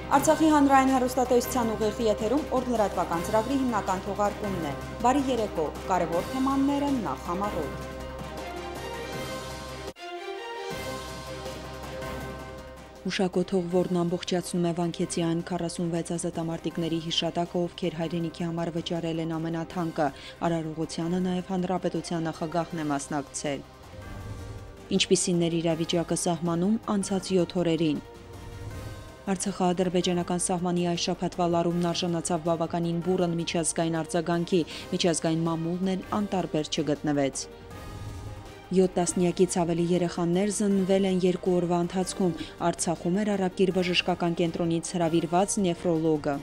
Արցախի հանրային հեռուստատեսության ուղիղ եթերում օրլրատվական ծրագրի հիմնական թողարկումն է։ Բարի երեկո, կարևոր թեմաները նախ համառոտ։ Հուշակոթող, որն ամբողջացնում է Վանքեցիային 46 ազատամարտիկների հիշատակը, ովքեր հայրենիքի համար վճարել են ամենաթանկը, արարողությանը նաև հանրապետության նախագահն է մասնակցել։ Ինչպիսին էր իրավիճակը սահմանում անցած 7 օրերին։ Արցախա-ադրբեջանական սահմանի այս շաբաթվա լարումն արժանացավ բավականին բուռն միջազգային արձագանքի, միջազգային մամուլն էլ անտարբեր չգտնվեց։ 7 տասնյակից ավելի երեխաներ զննվել են 2 օրվա ընթացքում, Արցախում էր Արաբկիր բժշկական կենտրոնից հրավիրված նեֆրոլոգը։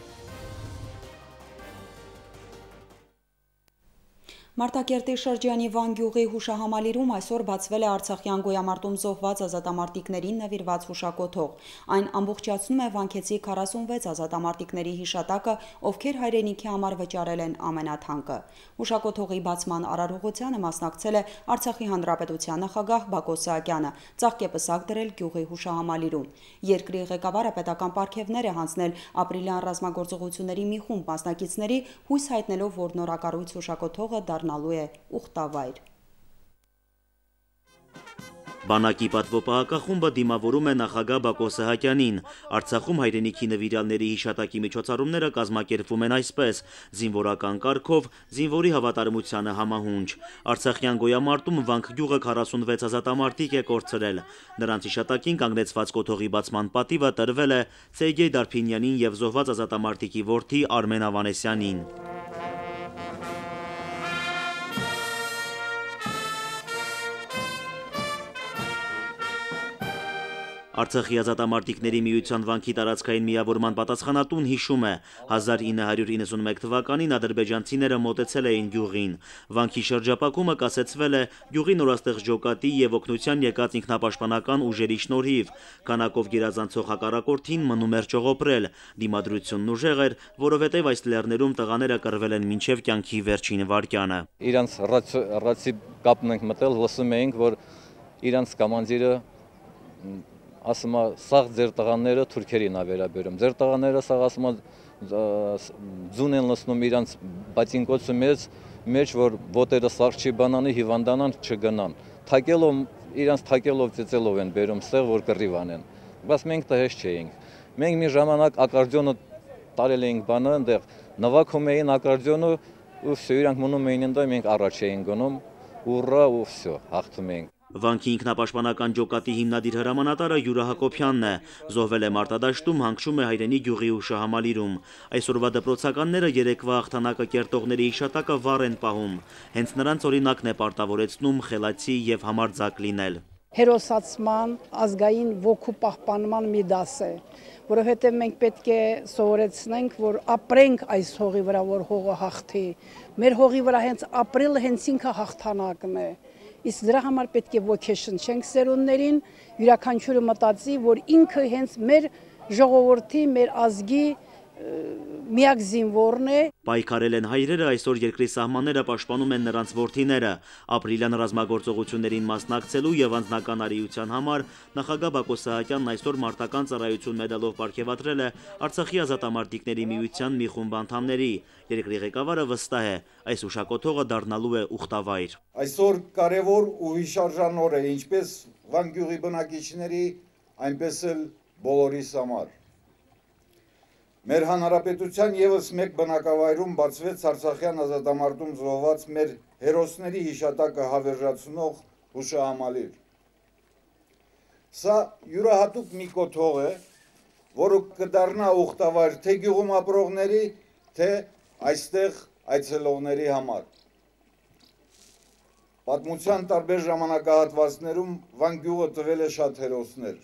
Մարտակերտի շրջանի Վան գյուղի հուշահամալիրում այսօր բացվել է Արցախյան գոյամարտում զոհված ազատամարտիկներին նվիրված հուշակոթող։ Այն ամբողջացնում է Վանքեցի 46 ազատամարտիկների հիշատակը, ովքեր հայրենիքի համար վճարել են ամենաթանկը։ Հուշակոթողի բացման արարողությանը մասնակցել է Արցախի հանրապետության նախագահ Բակո Սահակյանը, ծաղկեպսակ դրել գյուղի հուշահամալիրում։ Երկրի ղեկավարը պետական պարգևներ է հանձնել ապրիլյան ռազմագործողությունների մի խումբ մասնակիցների, հույս հայտնելով, որ նորակառույց հուշակոթողը դառնալու է ուխտավայր։ Բանակի պատվոպահակախումբը դիմավորում է նախագահ Բակո Սահակյանին։ Արցախում հայրենիքի նվիրյալների հիշատակի միջոցառումները կազմակերպվում են այսպես՝ զինվորական կարգով, զինվորի հավատարմությանը համահունչ։ Արցախյան գոյամարտում Վանք գյուղը 46 ազատամարտիկ է կորցրել։ Նրանց հիշատակին կանգնեցված կոթողի բացման պատիվը տրվել է Սերգեյ Դարփինյանին եւ զոհված ազատամարտիկի որդի Արմեն Ավանեսյանին։ Արցախի ազատամարտիկների միության Վանքի տարածքային միավորման պատասխանատուն հիշում է, 1991 թվականին ադրբեջանցիները մոտեցել էին գյուղին։ Վանքի շրջապակումը կասեցվել է գյուղի նորաստեղծ ջոկատի եւ օգնության եկած ինքնապաշտպանական ուժերի շնորհիվ։ Քանակով գերազանցող հակառակորդին մնում էր ճողոպրել։ Դիմադրությունն ուժեղ էր, որովհետեւ այս լեռներում տղաները կռվել են մինչեւ կյանքի վերջին վայրկյանը։ Իրանց ռացի կապն ենք մտել, լսում էինք, որ իրանց կոմանդիրը ասում է, սաղ ձեր տղաները թուրքերին ա վերաբերում։ Ձեր տղաները սաղ ասում է ձուն են լսնում իրանց բատինկոցու մեջ, որ ոտերը սաղ չի բանանի, հիվանդանան չգնան։ Թակելով, իրանց թակելով ծեծելով են բերում ստեղ, որ կռիվ անեն։ Բայց մենք դա հեշտ չէինք։ Մենք մի ժամանակ ակարդիոնը տարել էինք բանը, այնտեղ նվագում էին ակարդիոնը, ու վсё, իրանք մնում էին այնտեղ, մենք առաջ էինք գնում, ուռա ու վсё, հաղթում էինք։ Վանքի ինքնապաշտպանական ջոկատի հիմնադիր հրամանատարը Յուրա Հակոբյանն է, զոհվել է մարտադաշտում, հանգչում է հայրենի գյուղի հուշահամալիրում։ Այսօրվա դպրոցականները երեկվա հաղթանակը կերտողների հիշատակը վառ են պահում։ Հենց նրանց օրինակն է պարտավորեցնում խելացի եւ համարձակ լինել։ Հերոսացման, ազգային ոգու պահպանման մի դաս է, որովհետև մենք պետք է սովորեցնենք, որ ապրենք այս հողի վրա, որ հողը հաղթի։ Մեր հողի վրա հենց ապրելը հենց ինքը հաղթանակն է։ Իսկ դրա համար պետք է ոգեշնչենք սերունդներին, յուրաքանչյուրը մտածի, որ ինքը հենց մեր ժողովրդի, մեր ազգի միակ զինվորն է։ Պայքարել են հայրերը, այսօր երկրի սահմանները պաշտպանում են նրանց որդիները։ Ապրիլյան ռազմագործողություններին մասնակցելու եւ անձնական արիության համար նախագահ Բակո Սահակյանն այսօր մարտական ծառայություն մեդալով պարգևատրել է Արցախի ազատամարտիկների միության մի խումբ անդամների։ Երկրի ղեկավարը վստահ է, այս հուշակոթողը դառնալու է ուխտավայր։ Այսօր կարևոր ու հիշարժան օր է ինչպես Վան գյուղի բնակիչների, այնպես էլ բոլորիս համար։ Մեր հանրապետության եւս մեկ բնակավայրում բացվեց Արցախյան ազատամարտում զոհված մեր հերոսների հիշատակը հավերժացնող հուշահամալիր։ Սա յուրահատուկ մի կոթող է, որը կդառնա ուխտավայր թե գյուղում ապրողների, թե այստեղ այցելողների համար։ Պատմության տարբեր ժամանակահատվածներում Վան գյուղը տվել է շատ հերոսներ։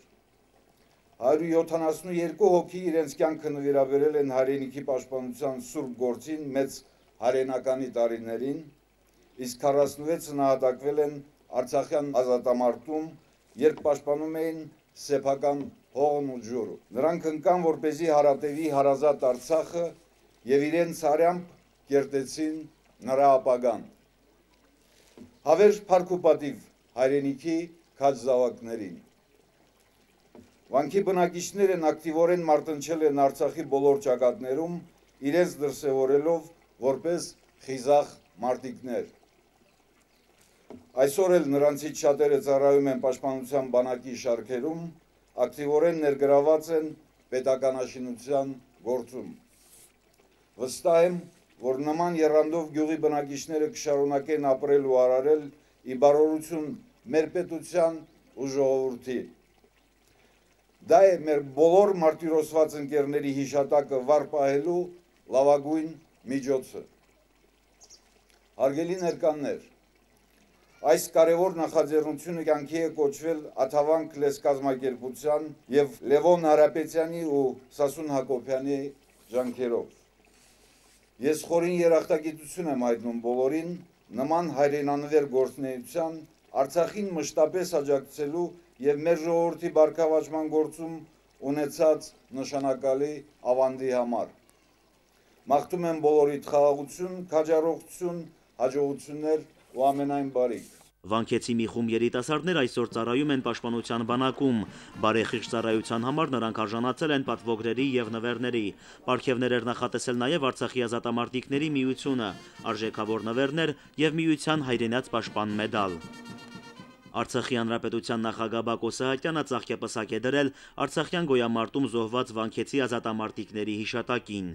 172 հոգի իրենց կյանքը նվիրաբերել են հայրենիքի պաշտպանության սուրբ գործին մեծ հայրենականի տարիներին, իսկ 46-ը նահատակվել են Արցախյան ազատամարտում, երբ պաշտպանում էին սեփական հողն ու ջուրը։ Նրանք ընկան, որպեսզի հարատևի հարազատ Արցախը եւ իրենց արյամբ կերտեցին նրա ապագան։ Հավերժ փառք ու պատիվ հայրենիքի քաջ զավակներին։ Վանքի բնակիչներն ակտիվորեն մարտնչել են Արցախի բոլոր ճակատներում, իրենց դրսևորելով որպես խիզախ մարտիկներ։ Այսօր էլ նրանցից շատերը ծառայում են Պաշտպանության բանակի շարքերում, ակտիվորեն ներգրաված են պետականաշինության գործում։ Վստահ եմ, որ նման եռանդով գյուղի բնակիչները կշարունակեն ապրել ու արարել ի բարօրություն մեր պետության ու ժողովրդի։ Դա է մեր բոլոր մարտիրոսված ընկերների հիշատակը վառ պահելու լավագույն միջոցը։ Հարգելի ներկաներ, այս կարևոր նախաձեռնությունը կյանքի է կոչվել Աթավանք լեզկազմակերպության եւ Լևոն Հարապետյանի ու Սասուն Հակոբյանի ջանքերով։ Ես խորին երախտագիտություն եմ հայտնում բոլորին նման հայրենանվեր գործունեության Արցախին մշտապես աջակցելու եւ մեր ժողովրդի բարգավաճման գործում ունեցած նշանակալի ավանդի համար։ Մաղթում եմ բոլորիդ խաղաղություն, քաջառողջություն, հաջողություններ ու ամենայն բարիք։ Վանքեցի մի խումբ երիտասարդներ այսօր ծառայում են Պաշտպանության բանակում։ Բարեխիղճ ծառայության համար նրանք արժանացել են պատվոգրերի եւ նվերների։ Պարգևներ էր նախատեսել նաեւ Արցախի ազատամարտիկների միությունը, արժեքավոր նվերներ եւ միության հայրենաց պաշտպան մեդալ։ Արցախի հանրապետության նախագահ Բակո Սահակյանը ծաղկեպսակ է դրել Արցախյան գոյամարտում զոհված վանքեցի ազատամարտիկների հիշատակին։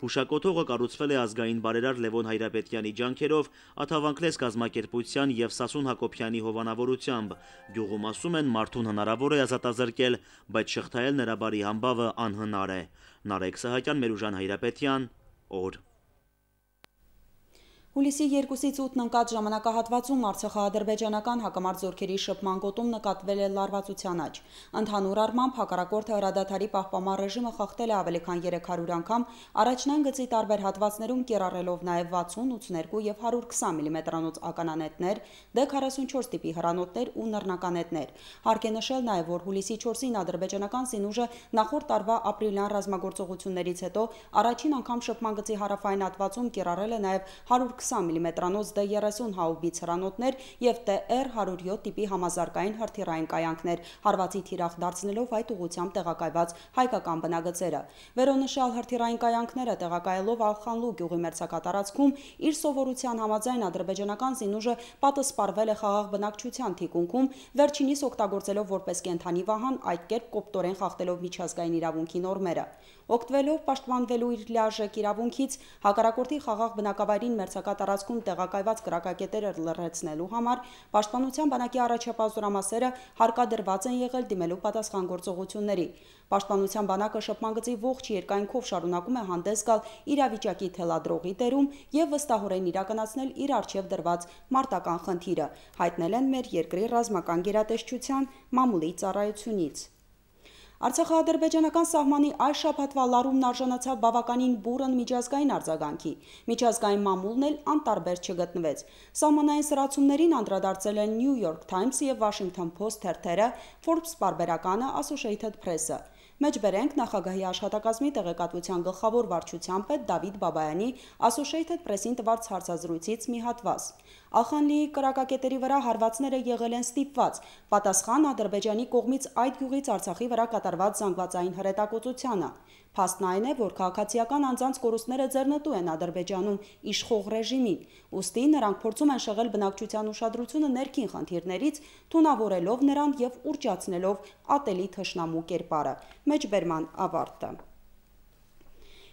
Հուշակոթողը կառուցվել է ազգային բարերար Լևոն Հայրապետյանի ջանքերով, Աթավանք լեզկազմակերպության եւ Սասուն Հակոբյանի հովանավորությամբ։ Գյուղում ասում են մարդուն հնարավոր է ազատազրկել, բայց շղթայել նրա բարի համբավը անհնար է։ Նարեկ Սահակյան, Մերուժան Հայրապետյան, օր։ Հուլիսի 2-ից 8-ն ընկած ժամանակահատվածում արցախա-ադրբեջանական հակամարտ զորքերի շփման գոտում նկատվել է լարվածության աճ։ Ընդհանուր առմամբ հակառակորդը հրադադարի պահպանման ռեժիմը խախտել է ավելի քան 300 անգամ, առաջնային գծի տարբեր հատվածներում կիրառելով նաև 60, 82 եւ 120 մմ-անոց ականանետներ, D44 տիպի հրանոթներ ու նռնականետներ։ Հարկ է նշել նաև, որ հուլիսի 4-ին ադրբեջանական զինուժը նախորդ տարվա ապրիլյան ռազմագործողություններից հետո առաջին անգամ շփման գծի հարավային հատվածում կիրառել է նաև 120 մմ-անոց D30 հաուբից հրանոթներ եւ TR-107 տիպի համազարգային հրթիռային կայանքներ, հարվածի թիրախ դարձնելով այդ ուղղությամբ տեղակայված հայկական բնագծերը։ Վերոնշյալ հրթիռային կայանքները տեղակայելով Ալխանլու գյուղի մերձակատարածքում իր սովորության համաձայն ադրբեջանական զինուժը պատասպարվել է խաղաղ բնակչության թիկունքում, վերջինիս օգտագործելով որպես կենդանի վահան, այդ կերպ կոպտորեն խախտելով միջազգային իրավունքի նորմերը։ Օգտվելով պաշտպանվելու իր լիարժեք իրավունքից հակառակորդի խաղաղ բնակավայրին մերձակատարածքում տեղակայված կրակակետերը լրացնելու համար Պաշտպանության բանակի առաջապահ զորամասերը հարկադրված են եղել դիմելու պատասխան գործողությունների։ Պաշտպանության բանակը շփման գծի ողջ երկայնքով շարունակում է հանդես գալ իրավիճակի թելադրողի դերում եւ վստահորեն իրականացնել իր առջեւ դրված մարտական խնդիրը, հայտնել են մեր երկրի ռազմական գերատեսչության մամուլի ծառայությունից։ Արցախա-ադրբեջանական սահմանի այս շաբաթվա լարումն արժանացավ բավականին բուռն միջազգային արձագանքի։ Միջազգային մամուլն էլ անտարբեր չգտնվեց։ Սահմանային սրացումներին անդրադարձել են New York Times եւ Washington Post թերթերը, Forbes պարբերականը, Associated Press-ը։ Մեջբերենք նախագահի աշխատակազմի տեղեկատվության գլխավոր վարչության պետ Դավիթ Բաբայանի Associated Press-ին տված հարցազրույցից մի հատված։ Ալխանլիի կրակակետերի վրա հարվածները եղել են ստիպված, պատասխան Ադրբեջանի կողմից այդ գյուղից Արցախի վրա կատարված զանգվածային հրետակոծությանը։ Փաստն այն է, որ քաղաքացիական անձանց կորուստները ձեռնտու են Ադրբեջանում իշխող ռեժիմին, ուստի նրանք փորձում են շեղել բնակչության ուշադրությունը ներքին խնդիրներից, թունավորելով նրան եւ ուռճացնելով ատելի թշնամու կերպարը։ Մեջբերման ավարտը։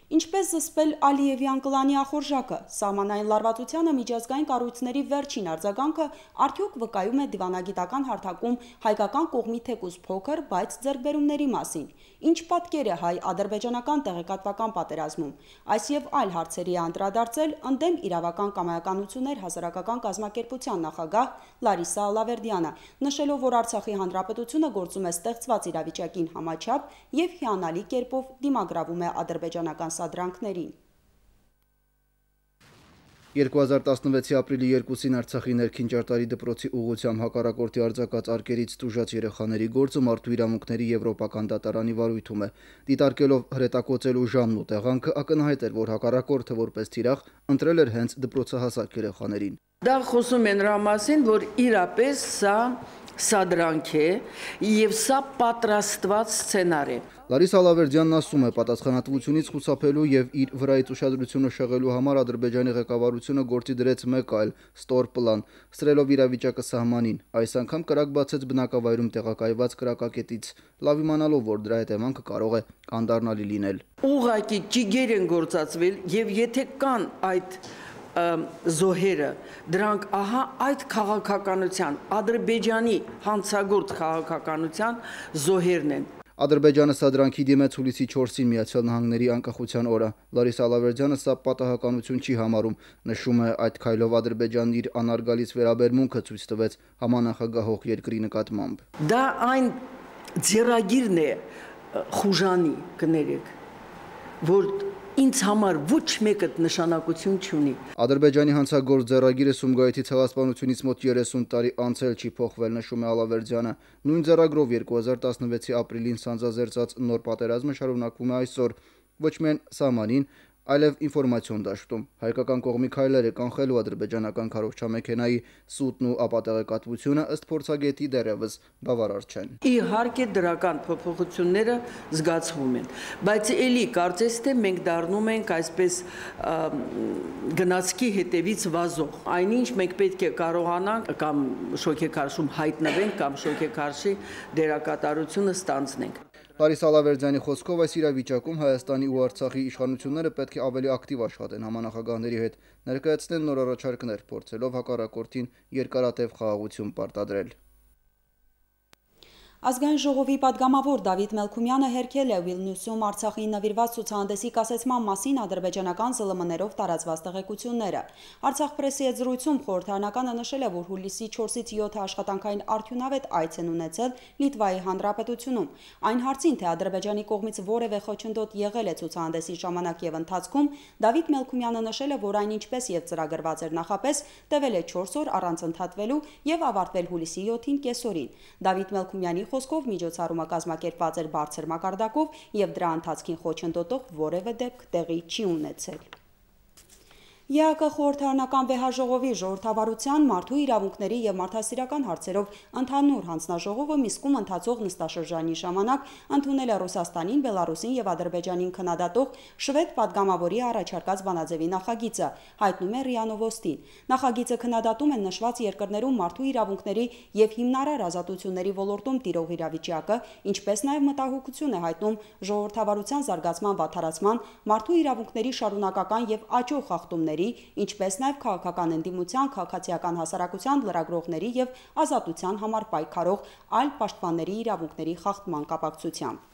Ինչպես զսպել Ալիևյան կլանի ախորժակը, սահմանային լարվածությանը միջազգային կառույցների վերջին արձագանքը արդյոք վկայում է դիվանագիտական հարթակում հայկական կողմի թեկուզ փոքր, բայց ձեռքբերումների մասին։ Ինչ պատկեր է հայ-ադրբեջանական տեղեկատվական պատերազմում։ Այս եւ այլ հարցերի անդրադարձել ընդդեմ իրավական կամայականություններ հասարակական կազմակերպության նախագահ Լարիսա Ալավերդյանը, նշելով, որ Արցախի հանրապետությունը գործում է ստեղծված իրավիճակին համաչափ եւ հիանալի կերպով դիմագրավում է ադրբեջանական սադրանքներին։ 2016-ի ապրիլի 2-ին Արցախի ներքին ճարտարի դպրոցի ուղղությամբ հակառակորդի արձակած արկերից տուժած երեխաների գործը Մարդու իրավունքների եվրոպական դատարանի վարույթում է։ Դիտարկելով հրետակոծելու ժամն ու տեղանքը ակնհայտ էր, որ հակառակորդը որպես թիրախ ընտրել էր հենց դպրոցահասակ երեխաներին։ Դա խոսում են նրա մասին, որ իրապես սա սադրանք է եւ սա պատրաստված սցենար է։ Լարիսա Ալավերդյանն ասում է, պատասխանատվությունից խուսափելու եւ իր վրայից ուշադրությունը շեղելու համար Ադրբեջանի ղեկավարությունը գործի դրեց մեկ այլ ստոր պլան, սրելով իրավիճակը սահմանին։ Այս անգամ կրակ բացեց բնակավայրում տեղակայված կրակակետից, լավ իմանալով, որ դրա հետևանքը կարող է անդառնալի լինել։ Ուղղակի ճիգեր են գործածվել եւ եթե կան այդ զոհերը, դրանք ահա այդ քաղաքականության, Ադրբեջանի հանցագործ քաղաքականության զոհերն են։ Ադրբեջանը սադրանքի դիմեց հուլիսի 4-ին Միացյալ Նահանգների անկախության օրը։ Լարիսա Ալավերդյանը սա պատահականություն չի համարում, նշում է, այդ քայլով Ադրբեջանն իր անարգալից վերաբերմունքը ցույց տվեց համանախագահող երկրի նկատմամբ։ Դա այն ձեռագիրն է խուժանի, կներեք, որ ինձ համար ոչ մեկը նշանակություն չունի։ Ադրբեջանի հանցագործ ձեռագիրը Սումգայիթի ցեղասպանությունից մոտ 30 տարի անց էլ չի փոխվել, նշում է Ալավերդյանը։ Նույն ձեռագրով 2016-ի ապրիլին սանձազերծած նոր պատերազմը շարունակվում է այսօր, ոչ միայն սահմանին, այլև ինֆորմացիոն դաշտում։ Հայկական կողմի քայլերը կանխելու ադրբեջանական քարոզչամեքենայի սուտն ու ապատեղեկատվությունը ըստ փորձագետի դեռևս բավարար չեն։ Իհարկե դրական փոփոխությունները զգացվում են, բայց էլի կարծես թե մենք դառնում ենք այսպես գնացքի հետևից վազող։ Այնինչ մենք պետք է կարողանանք կամ շոկեքարշում հայտնվենք կամ շոկեքարշի դերակատարությունը ստանձնենք։ Լարիսա Ալավերդյանի խոսքով այս իրավիճակում Հայաստանի ու Արցախի իշխանությունները պետք է ավելի ակտիվ աշխատեն համանախագահների հետ, ներկայացնեն նոր առաջարկներ, փորձելով հակառակորդին երկարատև խաղաղություն պարտադրել։ Ազգային ժողովի պատգամավոր Դավիթ Մելքումյանը հերքել է Վիլնյուսում Արցախին նվիրված ցուցահանդեսի կասեցման մասին ադրբեջանական ԶԼՄ-ներով տարածված տեղեկությունները։ Արցախ պրեսի հետ զրույցում խորհրդարանականը նշել է, որ հուլիսի 4-ից 7 աշխատանքային արդյունավետ այց են ունեցել Լիտվայի Հանրապետությունում։ Այն հարցին, թե Ադրբեջանի կողմից որևէ խոչընդոտ եղել է ցուցահանդեսի ժամանակ եւ ընթացքում, Դավիթ Մելքումյանը նշել է, որ այն ինչպես եւ ծրագրված էր նախապես, տևել է 4 օր առանց ընդհատվելու եւ ավարտվել հուլիսի 7-ին կեսօրին։ Դավիթ Մելքումյանի խոսքով միջոցառումը կազմակերպված էր բարձր մակարդակով եւ դրա ընթացքին խոչընդոտող որևէ դեպք տեղի չի ունեցել։ ԵԱԿ խորհրդարանական վեհաժողովի ժողովրդավարության մարդու իրավունքների եւ մարդասիրական հարցերով ընդհանուր հանձնաժողովը Միսկում ընթացող նստաշրջանի ժամանակ ընդունել է Ռուսաստանին, Բելարուսին եւ Ադրբեջանին քննադատող շվեդ падգամավորի առաջարկած բանաձևի նախագիծը, հայտնում է ՌԻԱ Նովոստին։ Նախագիծը քննադատում է նշված երկրներում մարդու իրավունքների եւ հիմնարար ազատությունների ոլորտում տիրող իրավիճակը, ինչպես նաեւ մտահոգություն է հայտնում ժողովրդավարության զարգացման վատթարացման, մարդու իրավունքների շարունակական եւ աճող խախտումների, ինչպես նաև քաղաքական ընդդիմության, քաղաքացիական հասարակության, լրագրողների եւ ազատության համար պայքարող այլ պաշտպանների իրավունքների խախտման կապակցությամբ։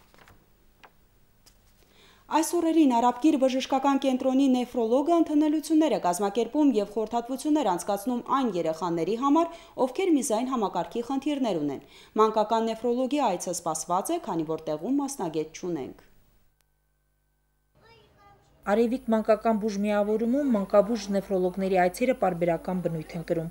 Այս օրերին Արաբկիր բժշկական կենտրոնի նեֆրոլոգը ընդունելություններ է կազմակերպում եւ խորհրդատվություններ անցկացնում այն երեխաների համար, ովքեր միզային համակարգի խնդիրներ ունեն։ Մանկական նեֆրոլոգի այցը սպասված է, քանի որ տեղում մասնագետ չունենք։ Արևիկ մանկական բուժ միավորումում մանկաբուժ նեֆրոլոգների այցերը պարբերական բնույթ են կրում։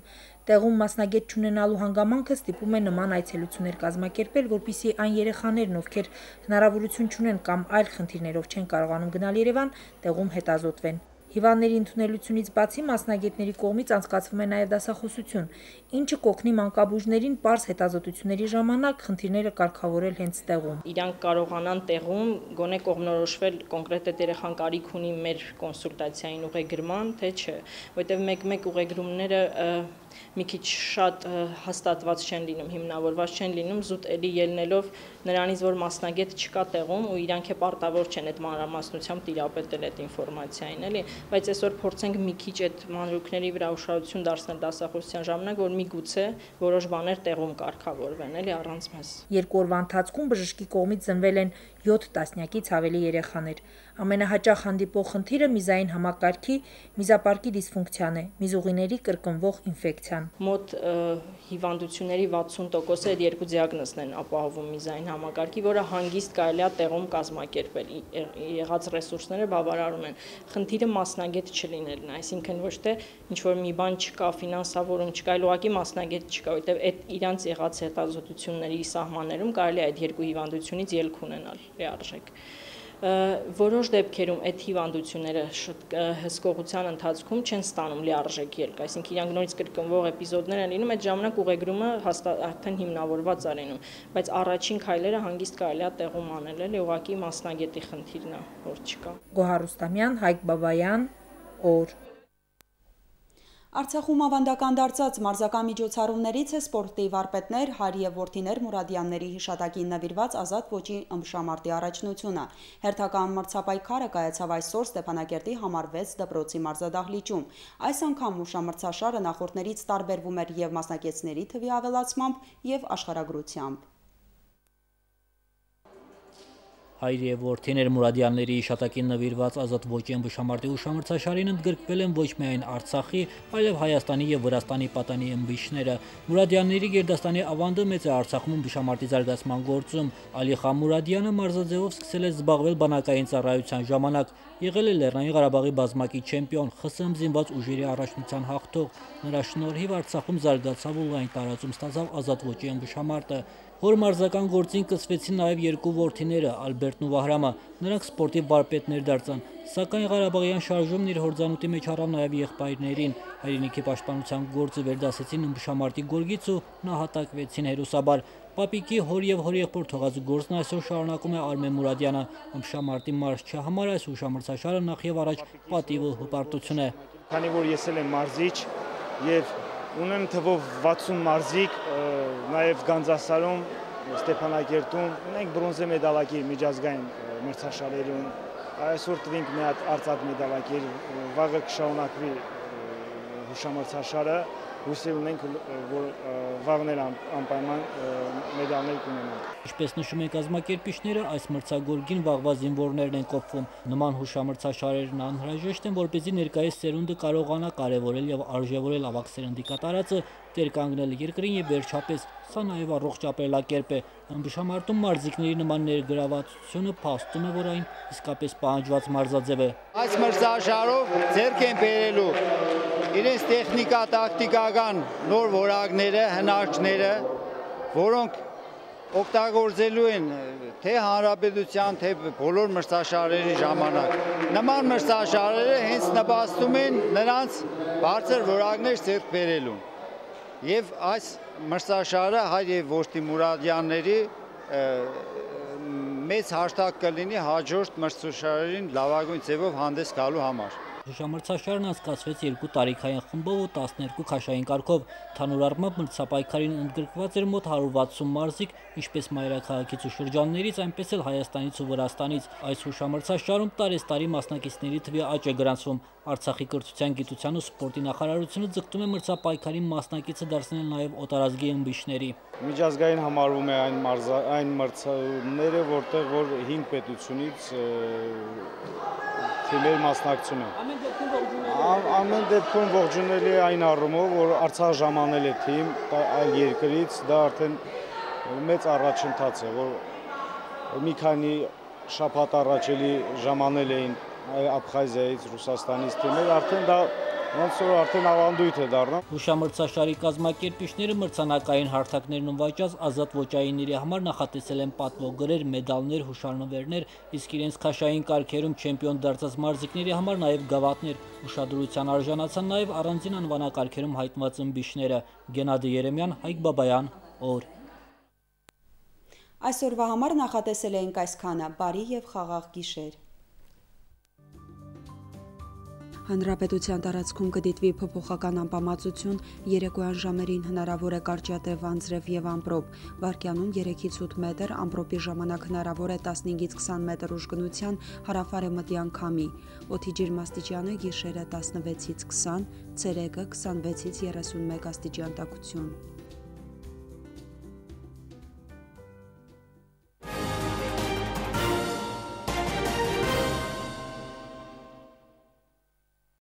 Տեղում մասնագետ չունենալու հանգամանքը ստիպում է նման այցելություններ կազմակերպել, որպեսզի այն երեխաներն, ովքեր հնարավորություն չունեն կամ այլ խնդիրներով չեն կարողանում գնալ Երևան, տեղում հետազոտվեն։ Հիվանդների ընդունելությունից բացի մասնագետների կողմից անցկացվում է նաև դասախոսություն, ինչը կօգնի մանկաբույժներին պարզ հետազոտությունների ժամանակ խնդիրները կարգավորել հենց տեղում։ Իրանք կարողանան տեղում գոնե կողմնորոշվել կոնկրետ երեխան կարիք ունի մեր կոնսուլտացիային ուղեգրման, թե չէ, որտեղ մեկ-մեկ ուղեգրումները մի քիչ շատ հաստատված չեն լինում, հիմնավորված չեն լինում, զուտ էլի ելնելով նրանից, որ մասնագետ չկա տեղում ու իրանք է պարտավոր չեն այդ մանրամասնությամբ տիրապետել այդ ինֆորմացիային, էլի, բայց այսօր փորձենք մի քիչ այդ մանրուքների վրա ուշադրություն դարձնել դասախոսության ժամանակ, որ միգուցե որոշ բաներ տեղում կարգավորվեն, էլի առանց մեզ։ 2 օրվա ընթացքում բժշկի կողմից ծնվել են 7 տասնյակից ավելի երեխաներ։ Ամենահաճախ հանդիպող խնդիրը միզային համակարգի միզապարկի դիսֆունկցիան է, միզուղիների կրկնվող ինֆեկցիան։ Մոտ հիվանդությունների 60%-ը այդ երկու դիագնոզն են ապահովում միզային համակարգի, որը հանգիստ կարելի է տեղում կազմակերպել, եղած ռեսուրսները բավարարում են։ Խնդիրը մասնագետ չլինելն է, այսինքն ոչ թե ինչ-որ մի բան չկա, ֆինանսավորում չկա, այլ ուղղակի մասնագետ չկա, որովհետև այդ իրանց եղած հետազոտությունների սահմաններում կարելի է այդ երկու հիվանդությունից ելք ունենալ լիարժեք։ Որոշ դեպքերում այդ հիվանդությունները հսկողության ընթացքում չեն ստանում լիարժեք ելք, այսինքն իրանք նորից կրկնվող էպիզոդներ են լինում, այդ ժամանակ ուղեգրումը արդեն հիմնավորված է լինում, բայց առաջին քայլերը հանգիստ կարելի է տեղում անել, էլի ուղղակի մասնագետի խնդիրն է, որ չկա։ Գոհար Ռուստամյան, Հայկ Բաբայան, օր։ Արցախում ավանդական դարձած մարզական միջոցառումներից է սպորտի վարպետներ, հայր և որդիներ Մուրադյանների հիշատակին նվիրված ազատ ոճի ըմբշամարտի առաջնությունը։ Հերթական մրցապայքարը կայացավ այսօր Ստեփանակերտի համար 6 դպրոցի մարզադահլիճում։ Այս անգամ հուշամրցաշարը նախորդներից տարբերվում էր և մասնակիցների թվի ավելացմամբ և աշխարհագրությամբ։ Հայր և որդիներ Մուրադյանների հիշատակին նվիրված ազատ ոճի ըմբշամարտի հուշամրցաշարին ընդգրկվել են ոչ միայն Արցախի, այլև Հայաստանի և Վրաստանի պատանի ըմբիշները։ Մուրադյանների գերդաստանի ավանդը մեծ է Արցախում ըմբշամարտի զարգացման գործում։ Ալիխան Մուրադյանը մարզաձևով սկսել է զբաղվել բանակային ծառայության ժամանակ, եղել է Լեռնային Ղարաբաղի բազմակի չեմպիոն, ԽՍՀՄ զինված ուժերի առաջնության հաղթող։ Նրա շնորհիվ Արցախում զարգացավ ու լայն տարածում ստացավ ազատ ոճի ըմբշամարտը։ Հոր մարզական գործին կցվեցին նաև երկու որդիները՝ Ալբերտն ու Վահրամը, նրանք սպորտի վարպետներ դարձան, սակայն Ղարաբաղյան շարժումն իր հորձանուտի մեջ առավ նաև եղբայրներին։ Հայրենիքի պաշտպանության գործը վերդասեցին ըմբշամարտի գորգից ու նահատակվեցին հերոսաբար։ Պապիկի, հոր և հորեղբոր թողած գործն այսօր շարունակում է Արմեն Մուրադյանը։ Ըմբշամարտի մարզչի համար այս հուշամրցաշարը նախ եւ առաջ պատիվ ու հպարտություն է։ Քանի որ ես էլ եմ մարզիչ եւ ունեմ թվով 60 մարզիկ, նաև Գանձասարում, Ստեփանակերտում ունենք բրոնզե մեդալակիր միջազգային մրցաշարերում, այսօր տվինք մի հատ արծաթ մեդալակիր, վաղը կշարունակվի հուշամրցաշարը, հույսեր ունենք, որ վաղն էլ անպայման մեդալներ կունենանք։ Ինչպես նշում են կազմակերպիչները, այս մրցագորգին վաղվա զինվորներն են կոփվում։ Նման հուշամրցաշարերն անհրաժեշտ են, որպեսզի ներկայիս սերունդը կարողանա կարևորել եւ արժեվորել ավագ սերնդի կատարածը, տեր կանգնել երկրին եւ վերջապես սա նաեւ առողջ ապրելակերպ է։ Ըմբշամարտում մարզիկների նման ներգրավվածությունը փաստում է, որ այն իսկապես պահանջված մարզաձև է։ Այս մրցաշարով ձեռք են բերելու իրենց տեխնիկա տակտիկական նոր որակները, հնարքները, որոնք օգտագործելու են թե հանրապետության, թե բոլոր մրցաշարերի ժամանակ։ Նման մրցաշարերը հենց նպաստում են նրանց բարձր որակներ ձեռք բերելուն։ Եվ այս մրցաշարը հայր և որդի Մուրադյանների մեծ հաշտակ կլինի հաջորդ մրցաշարերին լավագույն ձևով հանդես գալու համար։ Հուշամրցաշարն անցկացվեց 2 տարիքային խմբով ու 12 քաշային կարգով։ Թանուր առմամբ մրցապայքարին ընդգրկված էր մոտ 160 մարզիկ, ինչպես մայրաքաղաքից ու շրջաններից, այնպես էլ Հայաստանից ու Վրաստանից։ Այս հուշամրցաշարում տարեստարի մասնակիցների թվի աճ է գրանցվում։ Արցախի կրթության, գիտության ու սպորտի նախարարությունը ձգտում է մրցապայքարի մասնակիցը դարձնել նաև օտարազգի ըմբիշների։ Միջազգային համարվում է այն մրցումները, որտեղ որ 5 պետությունից թիմեր մասնակցում են։ Ամեն դեպքում ողջունելի է այն առումով, որ Արցախ ժամանել է թիմ այլ երկրից, դա արդեն մեծ առաջընթաց է, որ մի քանի շաբաթ առաջ էլի ժամանել էին Աբխազիայից, Ռուսաստանից թիմեր, արդեն դա ոնց որ արդեն ավանդույթ է դառնում։ Հուշամրցաշարի կազմակերպիչները մրցանակային հարթակներն ունվաճած ազատ ոճայինների համար նախատեսել են պատվոգրեր, մեդալներ, հուշանվերներ, իսկ իրենց քաշային կարգերում չեմպիոն դարձած մարզիկների համար նաև գավաթներ։ Ուշադրության արժանացան նաև առանձին անվանակարգերում հայտնված ըմբիշները։ Գենադի Երեմյան, Հայկ Բաբայան, օր։ Այսօրվա համար նախատեսել էինք այսքանը, բարի և խաղաղ գիշեր։ Հանրապետության տարածքում կդիտվի փոփոխական անբավարարություն, երեկոյան ժամերին հնարավոր է կարճատև անձրև եւ ամպրոպ, վարկյանում 3-ից 8 մետր, ամպրոպի ժամանակ հնարավոր է 15-ից 20 մետր ուժգնության հարավարևմտյան քամի, օդի ջերմաստիճանը գիշերը 16-ից 20, ցերեկը 26-ից 31 աստիճան տաքություն։